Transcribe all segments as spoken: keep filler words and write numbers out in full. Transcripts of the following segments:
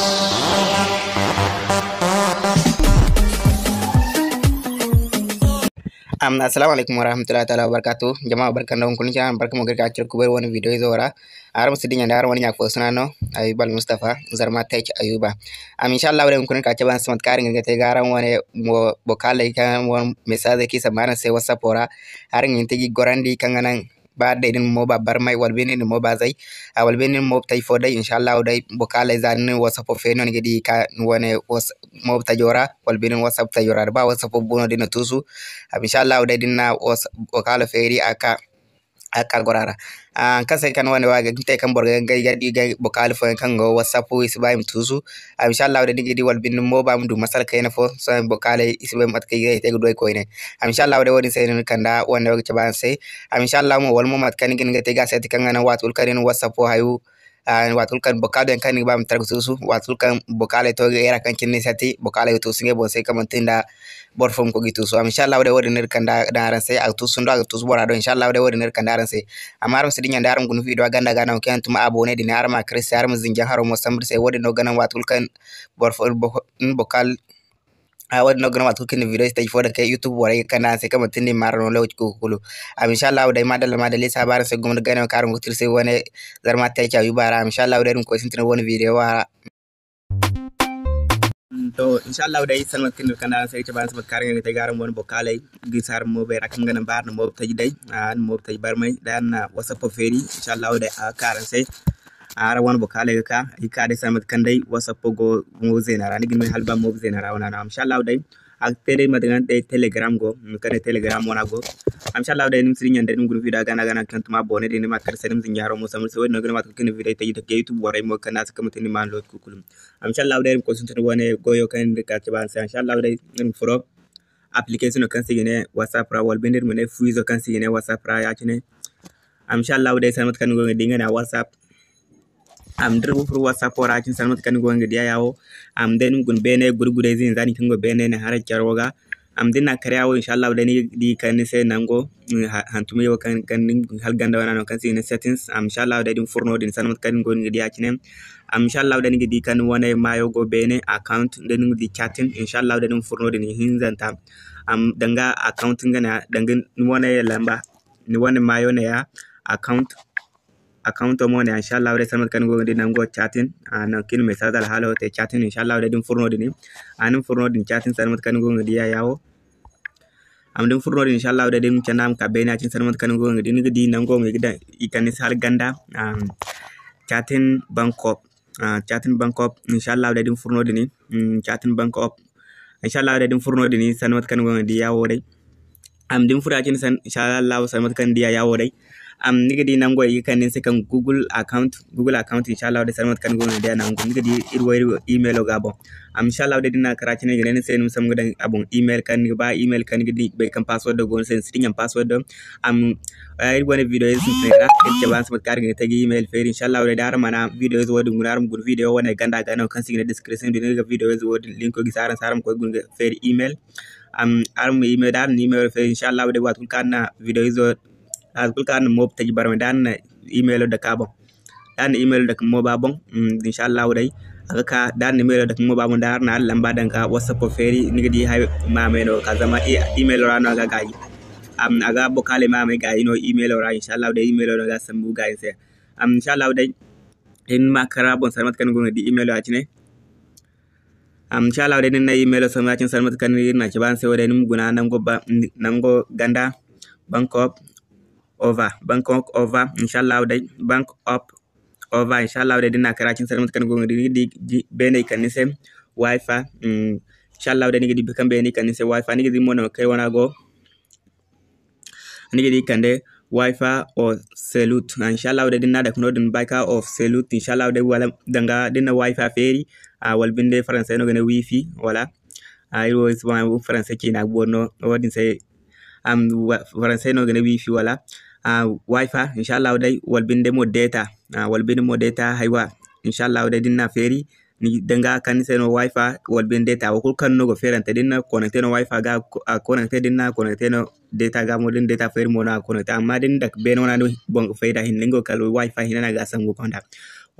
Am, assalamu alaikum warahmatullahi ta'ala wabarakatuh. Jama'a, barka nda hunkuna cina, barka mo ga iri ka cire kubay wane video izo ra. Araŋ ma si dinya nda araŋ wane ɲa fo suna no, Ayuba Al Mustafa, Zarma Tech Ayuba. Am, insha Allah, day hunkuna ka cabe araŋ se mate kaŋ araŋ ga te ga araŋ wane mo-, bokaley kaŋ wane message kaŋ i sambu araŋ se WhatsApp ra. Araŋ ga hin ga te ga i gorandi kaŋ ga naŋ ba day da ni ma mooba barmay, wala binde ni ma mooba zay, a wala binde ni ma mooba tay fo day, insha Allah day, bokaley za da ni na WhatsApp feeri no ni ga di ka ni wane was-, mooba tajo ra, wala binde ni WhatsApp tajo ra, da ba WhatsApp bu no da ni na tuusu, a, insha Allah day da ni na was-, bokalo feeri a ga ka, a ga ka goro a ra. A, haŋ kaŋ se kaŋ ni wane wo a ga te kaŋ boro ga ngey ga di ga bokalo fooyaŋ kaŋ go WhatsApp i si ba i ma tuusu, A, insha Allah day ni ga di wala binde ni mooba ma du masala kayna fo, sohõ bokaley i si bay mate kaŋ i ga te ga du ay koyne. A, insha Allah day wo-din se no ni kanda wande wo ga cabe araŋ se. A, insha Allah mo wala mo mate kaŋ ni ga hin ga te ga a se kaŋ ga naŋ waati kulu kaŋ ni na WhatsApp wo hayo, a, waati kulu kaŋ bokal yaŋ kaŋ ni ga ba ma tara ga tuusu, waati kulu kaŋ bokaley to ga era kaŋ cine ni sati, bokaley ga tuusu ngey boŋ se kaŋ manti nda boro fo ma koy ga i tuusu. A, insha Allah day wo-din no iri kanda daŋ araŋ se, a ga tuusu nda a ga tuusu bora do, insha Allah day wo-din no iri kanda araŋ se. Amma araŋ ma si dinya nda araŋ guna video ganda ga naŋ kaŋ yaŋ tuma abonné din, araŋ ma kar se, araŋ ma zinjaŋ haro mo sambu iri se. Wo-din no ga naŋ waati kulu kaŋ boro fo, boro fo, ni bokal, a, wo-din no ga naŋ waati kulu kaŋ ni video stage fo daŋ kay YouTube borey ga kande araŋ se kaŋ manti ni ma araŋ no lokaci kulu kulu. A, insha Allah day madalla madalla, iri si haba araŋ se gumo nda ganayaŋ kaŋ araŋ go ga te iri se wane Zarma Tech Ayuba ra. A, insha Allah day iri ma koy sintina wane video ra. To, insha Allah day, sanda mate kaŋ ni ga kande araŋ se, ay ga cabe araŋ se mate kaŋ araŋ ga te ga araŋ wane bokaley gisi araŋ moobey ra, kaŋ ga naŋ ba araŋ na mooba taji day, a, araŋ na mooba taji barmay, day araŋ na WhatsApp feeri, insha Allah day, a ga ka araŋ se. A, araŋ wane bokaley ga ka, i ga ka day sanda mate kaŋ day WhatsApp go mooba zeena ra, ni ga ni hala ba mooba zeena ra wane no. Insha Allah day, a ga te day mate kaŋ day Telegram go, mate kaŋ day Telegram wane go. Insha Allah day, ni ma si dinya day, ni ma guna video ganda ganda kaŋ tuma abonné din, ni ma kar se, ni ma zinja haro mo sambu iri se. Wo-din no ga naŋ mate kaŋ ni video taji day ga YouTube borey mo ga kande a se kaŋ manti ni ma lokaci kulu. Am, insha Allah day, iri ma koy sintin wane goyo kaŋ iri ga cabe araŋ se. Insha Allah day, iri ma furo application kaŋ se i ga ne WhatsApp ra, wala binde iri ma ne fu izo kaŋ se i ga ne WhatsApp ra ya-cine. Am, insha Allah day, sanda mate kaŋ ni go ga di nga ne a WhatsApp. Am, da iri ga furo WhatsApp ra ya-cine, sanda mate kaŋ ni go ga di a ya wo. Am, day ni ma guna beene gurgudayze hinza din kaŋ go beene ne haray caro ga. Am, da ni na a kar ya wo, insha Allah day ni ga di kaŋ ni se nango, mm, ha-, hantumay wo kaŋ, kaŋ ni hala ganda wana no kaŋ se i ga ne settings. Am, insha Allah day da ni furo no-din, sanda mate kaŋ ni go ga di ya-cine. Am, insha Allah day ni ga di kaŋ ni wane maayo go beene, account, da ni ga di chatting, insha Allah day da ni furo no-din hinzanta. Am, danga account nga ne, danga ni wane lamba, ni wane maayo ne ya, account, account mo ne ya, insha Allah day sanda mate kaŋ ni go ga di nango chatting, a, nangu kaŋ i na message alhaalo te chatting, insha Allah day da ni furo no-din, a, ni ma furo no-din chatting sanda mate kaŋ ni go ga di ya, ya wo. Am, da ni furo no-din, insha Allah day da ni ma candi a ma ka beene ya-cine sanda mate kaŋ ni go ga di, ni ga di nango mo i ga daŋ, i kande ni se hala ganda, am, chatting bank up, a, chatting bank up, insha Allah day da ni furo no-din, mm, chatting bank up, insha Allah day da ni furo no-din sanda mate kaŋ ni go ga di ya wo day. Am, da ni furo ya-cine san-, insha Allah sanda mate kaŋ ni di ya, ya wo day. Am, ni ga di nango i ga kande ni se kaŋ Google account, Google account, insha Allah day sanda mate kaŋ ni go ga di ya nango. Ni ga di iri wo iri emailo ga a boŋ. Am, insha Allah day da ni na a kar ya-cine i ga ne ni se ni ma sambu ga daŋ a boŋ email kaŋ ni ga ba, email kaŋ ni ga di bay kaŋ password go ni se, ni si dinya password. Am, eh, iri wane video ize sintinay ra, iri cabe araŋ se mate kaŋ araŋ ga te ga email feeri. Insha Allah day da araŋ mana video ize wo-din guna, araŋ ma guna video wane ganda ga no kaŋ se i ga ne description din, ni ga video ize wo-din linko gisi araŋ se, araŋ ma koy guna ga feeri email. Am, araŋ ma email, da araŋ na email feeri, insha Allah day waati kulu kaŋ araŋ na video izo, waati kulu kaŋ araŋ na mooba taji barmay, da araŋ na emailo dake a boŋ. Da araŋ na emailo dake mooba boŋ, mm, insha Allah day a ga ka, da araŋ na emailo dake mooba boŋ, da araŋ na araŋ lamba daŋ ka WhatsApp feeri, ni ga di hay maamay no ga ka, zama e-, emailo ra no a ga gaayi. Am, a ga bokaaley maamay gaayi no emailo ra, insha Allah day emailo no ga sambu gaayi se. Am, insha Allah day, iri ma kar a boŋ sanda mate kaŋ ni go ga di emailo ya-cine. Am, insha Allah day, da ni na emailo sambu ya-cine sanda mate kaŋ iri na a cabe araŋ se wo day, ni ma guna nango ba, nango ganda, Bank of Ova, Bank of Ova, insha Allah day, Bank of Ova, insha Allah day, da ni na a kar ya-cine sanda mate kaŋ ni go ga di, ni ga di, di, beene i kande ni se, Wi-Fi, mm, insha Allah day, ni ga di kaŋ beene i kande ni se, Wi-Fi, ni ga di mo nangu kaŋ ay wane a go. Ni ga di kande Wi-Fi or Salute. Insha Allah day, da ni na a dake no-din, Wi-Fi or Salute, insha Allah day, wala danga da ni na Wi-Fi feeri, a, wala binde Faransay no ga ne Wi-Fi, wala, a, iri wo iri si ba Faransay ciina ga boori no, wo-din se, am, wa-, Faransay no ga ne Wi-Fi, wala, a, Wi-Fi, insha Allah day, wala binde mo data, a, wala binde mo data, haywa, insha Allah day, da ni na a feeri, ni danga kaŋ ni se no Wi-Fi wala binde data, wo kulu kaŋ no go feerante, da ni na connecté no Wi-Fi ga, a connecté, da ni na connecté no data ga mo, da ni data feeri mo no a connecté, amma da ni dake beene wana no boŋ ga fay da hinne, nga wo kala Wi-Fi hinne no a ga sambu konda.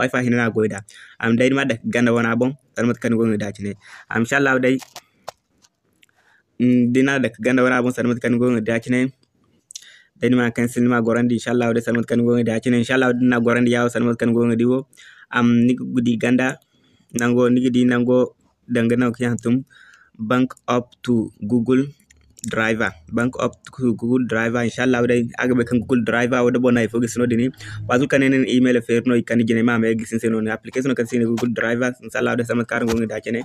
Wi-Fi hinne no a goy nd'a. Am day ni ma dake ganda wana boŋ, sanda mate kaŋ ni go ga di a cine. Am inshallah day, mm, da ni na dake ganda wana boŋ, sanda mate kaŋ ni go ga di a cine. Day ni ma cancel, ni ma gorandi, inshallah day sanda mate kaŋ ni go ga di a cine. Inshallah da ni na gorandi ya wo, sanda mate kaŋ ni go ga di wo. Am ni ga di ganda, nango, ni ga di nango, danga nango kaŋ i hantum, Bank up to Google Drive. Bank up to Google Drive, inshallah day, a ga bay kaŋ Google Drive wo da boro na hay fo gisi no-din. Waati kulu kaŋ ni na ni email feeri no, i kande jinay ma a ma gisi ni se no-din. Application kaŋ se i ne Google Drive, inshallah day, sanda mate kaŋ araŋ go ga di a cine.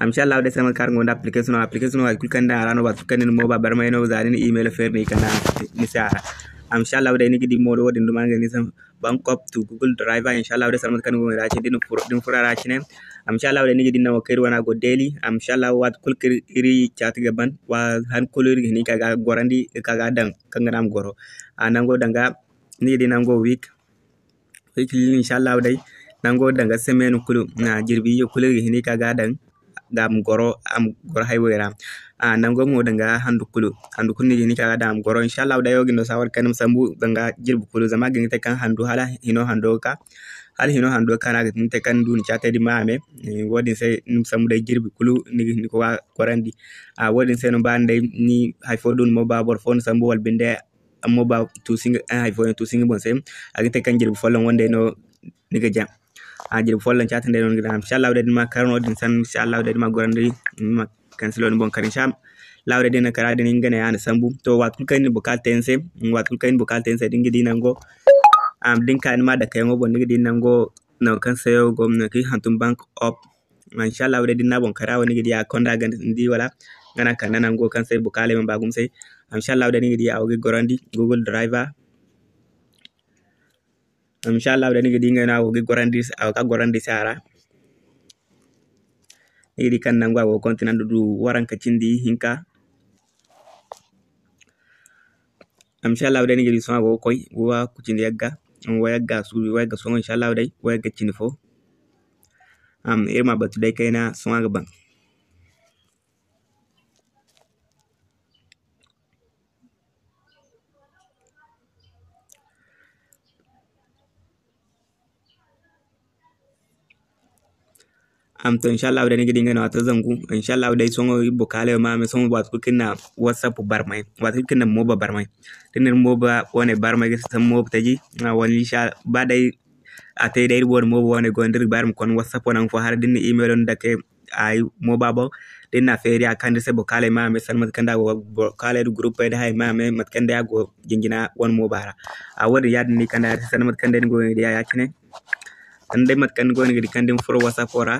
Am inshallah day, sanda mate kaŋ araŋ go ga di application, application wo hay kulu kaŋ ni daŋ a ra no, waati kulu kaŋ ni na mooba barmay no, za ni na email feeri no, i kande ni se a ra. Am inshallah day, ni ga di mo wo-din duma nga ni se, Bank up to Google Drive, inshallah day, sanda mate kaŋ ni go ga di a cine, da ni furo, da ni furo a ra cine. Am inshallah day, ni ga di nango kaŋ iri wane a go daily. Am inshallah waati kulu kaŋ iri chat ga ban, wa han kulu iri ga hin ga ka ga gorandi, ga ka ga daŋ kaŋ ga naŋ a ma goro. A nango danga, ni ga di nango week. Week, inshallah day, nango danga semaine kulu, na jirbi iyye kulu iri ga hin ga ka ga daŋ, ga a ma goro, a ma goro hay wo ra. A nango mo danga handu kulu, handu kulu ni ga hin ga ka ga daŋ a ma goro. Inshallah day, wo ga ni no saawar kaŋ ni ma sambu danga jirbi kulu, zama a ga hin ga te kaŋ handu hala hino hando ga ka, hala hino hando ga ka no a ga hin ga te kaŋ ni du ni chat din ma a me. Eh, wo-din se ni ma sambu day jirbi kulu, ni ga hin ga ka gorandi. A wo-din se no ba ni day ni hay fo du ni mooba boro fo ni sambu wala binde, amma ba tuusi nga, eh, hay fo yaŋ tuusi nga boŋ se, a ga te kaŋ jirbi folloŋ wande no ni ga jaŋ. A jirbi folloŋ chat day no ni ga daŋ. Inshallah day, da ni ma kar no-din sanda, inshallah day, da ni ma gorandi, ni ma cancelo ni boŋ kar. Inshallah day, da ni na kar a din, nga ne a na sambu. To, waati kulu kaŋ ni na bukaata te ni se, waati kulu kaŋ ni na bukaata te ni se, da ni ga di nango, am, da ni ka ni ma dake yaŋo boŋ, ni ga di nango, nango kaŋ se wo go, nango kaŋ i hantum Bank up. Inshallah day, da ni na boŋ kar a wo, ni ga di a konda ganda, ni di wala? Nga no a kande nango kaŋ se bukaaley mana ba gumo se. Inshallah day, ni ga di a wo ga gorandi Google Drive. Inshallah day, ni ga di nga no a go ga gorandi, a go ga gorandi se a ra. Ni ga di kaŋ nangu a go ga kontinandi du waranka cindi hinka. Inshallah day, ni ga di sohõ a go ga koy wa ku cindi yagga, wa yagga suubi, wa yagga sohõ, inshallah day, wa yagga cindi fo. Am, iri ma batu day kayna, sohõ a ga ban. Am, to, inshallah day, ni ga di nga no a to zangu. Inshallah day, sohõ bukaaley ma me, sohõ waati kulu kaŋ ni na WhatsApp barmay, waati kulu kaŋ ni na mooba barmay. Da ni na mooba wane barmay ga sambu mooba taji, a wala insha, ba day a te day iri wane mooba wane go no, da iri ga ba iri ma konda WhatsApp wane nangu fo, hala da ni na email no dake ay mooba boŋ. Da ni na feeri a kande ni se bukaaley ma me, sanda mate kaŋ day a go, bukaaley da guruppey da hay ma me, mate kaŋ day a go jinjina wane mooba ra. A wo-din yaadin no i kande a se, sanda mate kaŋ day ni go ga di a ya-cine. Sanda day mate kaŋ ni go ga di kaŋ da ni furo WhatsApp ra,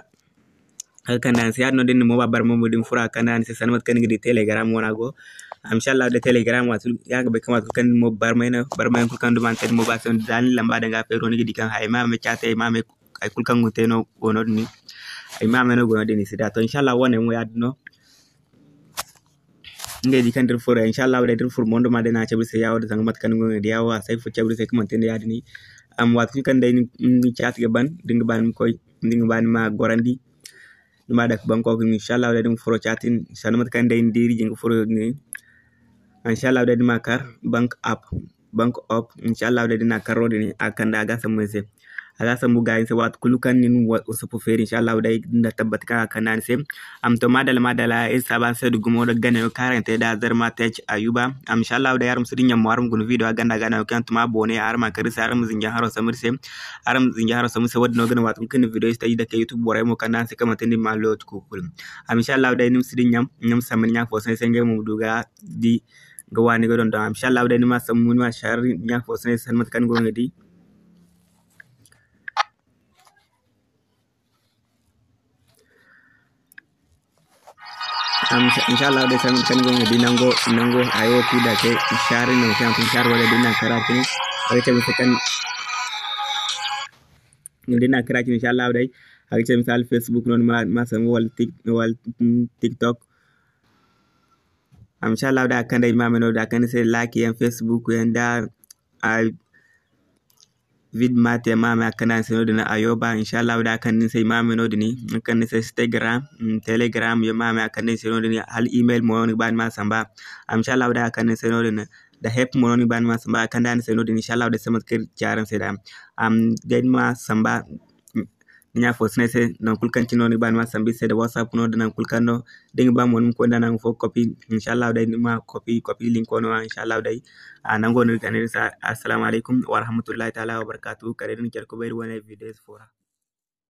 a ga kande a ni se. Yaadin no da ni na mooba barmay mo, da ni furo a ga kande a ni se, sanda mate kaŋ ni ga di Telegram wane a go. Am, inshallah day, Telegram waati kulu, ya ga bay kaŋ waati kulu kaŋ ni na mooba barmay no, barmay kulu kaŋ duma ni te ni mooba se, da ni lamba daŋ ga feeri no, ni ga di kaŋ hay ma me chat, hay ma me hay kulu kaŋ go te no go no-din. Ay ma me no go no-din i si da. To, inshallah, wane mo yaadin no. Ngey di kaŋ da iri furo, inshallah, day da iri furo mondo ma day no a cabe iri se ya wo-din, zanga mate kaŋ ni go ga di ya wo, a si ay furo cabe iri se kaŋ manti nda yaadin. Am, waati kulu kaŋ day ni, ni chat ga ban, da ni ga ba ni ma koy, da ni ga ba ni ma gorandi, ni ma dake Bank up, inshallah, day da ni furo chat, sanda mate kaŋ day ni di iri jin ga furo din. Inshallah, day da ni ma kar Bank up. Bank up, inshallah, day da ni na kar no-din, a ga kande a ga sambu ni se. A ga sambu ga ni se waati kulu kaŋ ni na wa-, WhatsApp feeri, inshallah, day da ni na tabbat kaŋ a ga kande ni se. Am, to, madalla, madalla, iri saabu araŋ se da gumo da ganayo kaŋ araŋ te da Zarma Tech Ayuba. Am, inshallah, day araŋ ma si dinya mo, araŋ ma guna video a ganda ganayo kaŋ yaŋ tuma boone, araŋ ma kar iri se, araŋ ma zinja haro sambu iri se. Araŋ ma zinja haro sambu iri se, wo-din no ga naŋ waati kulu kaŋ ni na video taji dake YouTube borey mo kande araŋ se kaŋ manti ni ma looti kuukul. Am, inshallah, day ni ma si dinya, ni ma sambu ni ɲa fo se, ngey mo ma du ga di ga waani ga dondon. Inshallah, day ni ma sambu, ni ma share, ni ɲa fo se, sanda mate kaŋ ni go ga di. Am, inshallah, day sanda mate kaŋ ni go ga di nango, nango hayo kulu da te, share no, kaŋ share wala din na kara kini, wala te mate kaŋ din na kara kini, inshallah, day a ga ce misali Facebook no, ni ma, ma sambu wala Tik-, wala, mm, TikTok. Am, inshallah, da a ga kande ay ma me no, da a ga kande ni se like yaŋ, Facebook yaŋ, da a vid mate yaŋ ma me a ga kande ni se no-din. Ayoba, inshallah, da a ga kande ni se ay ma me no-din, a ga kande ni se Instagram, mm, Telegram yaŋ ma me a ga kande ni se no-din, hala email mo ni ga ba ni ma samba. Am, inshallah, da a ga kande ni se no-din. da hep mo no ni ga ba ni ma samba, a kande a ni se no-din, inshallah day se mate kaŋ iri ga ci araŋ se da. Am, day ni ma samba, ni ɲa fo si ne ay se, nangu kulu kaŋ cine no ni ga ba ni ma samba iri se, da WhatsApp no, da nangu kulu kaŋ no, da ni ga ba mo ni ma koy nda nangu fo ga copy, inshallah day ni ma copy, copy linko no, inshallah day. A nango no iri ga ne iri se, assalamu alaykum warahmatullahi taala wabarakatuhu, kala day da ni care kubay iri wane video fo ra.